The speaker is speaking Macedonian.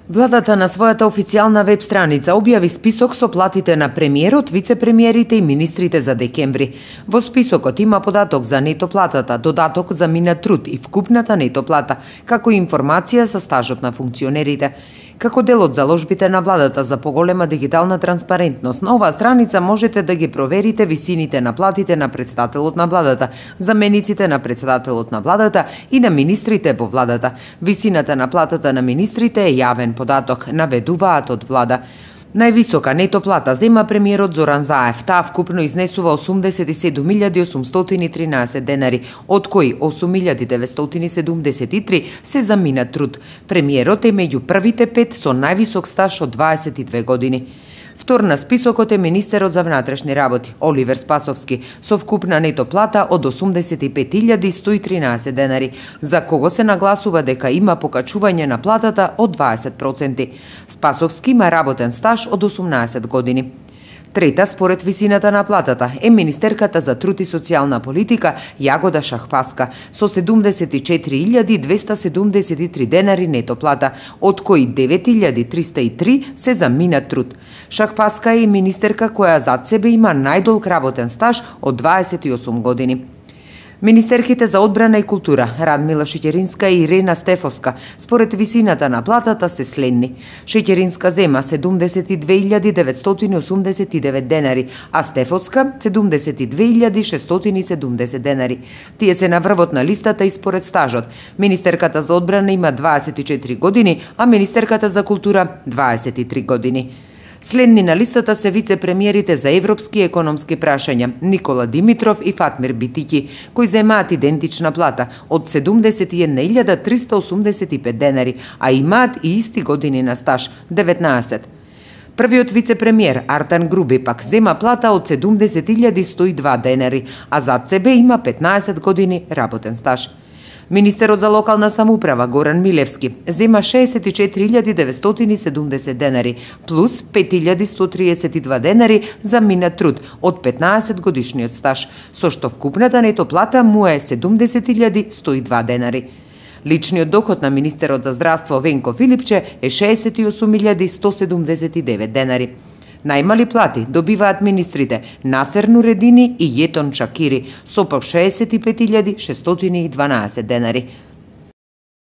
Владата на својата официјална веб страница објави список со платите на премиерот, вице-премиерите и министрите за декември. Во списокот има податок за нето платата, додаток за минат труд и вкупната нето плата, како и информација за стажот на функционерите. Како дел од заложбите на владата за поголема дигитална транспарентност, на оваа страница можете да ги проверите висините на платите на претседателот на владата, замениците на претседателот на владата и на министрите во владата. Висината на платата на министрите е јавен податок, наведуваат од влада. Највисока нето плата зема премиерот Зоран Заев. Таа вкупно изнесува 87.813 денари, од кои 8.973 се за минат труд. Премиерот е меѓу првите 5 со највисок стаж од 22 години. Втор на списокот е министерот за внатрешни работи Оливер Спасовски со вкупна нето плата од 85.113 денари, за кого се нагласува дека има покачување на платата од 20%. Спасовски има работен стаж од 18 години. Трета, според висината на платата, е министерката за труд и социјална политика Јагода Шахпаска со 74.273 денари нето плата, од кои 9.303 се за минат труд. Шахпаска е министерка која зад себе има најдолг работен стаж од 28 години. Министерките за одбрана и култура Радмила Шеќеринска и Ирена Стефоска според висината на платата се следни. Шеќеринска зема 72.989 денари, а Стефоска 72.670 денари. Тие се на врвот на листата и според стажот. Министерката за одбрана има 24 години, а министерката за култура 23 години. Следни на листата се вице-премиерите за европски и економски прашања Никола Димитров и Фатмир Битики, кои земаат идентична плата од 71.385 денари, а имаат и исти години на стаж 19. Првиот вице-премиер Артан Груби пак зема плата од 70.102 денари, а зад себе има 15 години работен стаж. Министерот за локална самоуправа Горан Милевски зема 64.970 денари плюс 5.132 денари за минат труд од 15 годишниот стаж, со што вкупната нето плата му е 70.102 денари. Личниот доход на министерот за здравство Венко Филипче е 68.179 денари. Најмали плати добиваат министрите Насер Нуредини и Јетон Чакири со по 65.612 денари.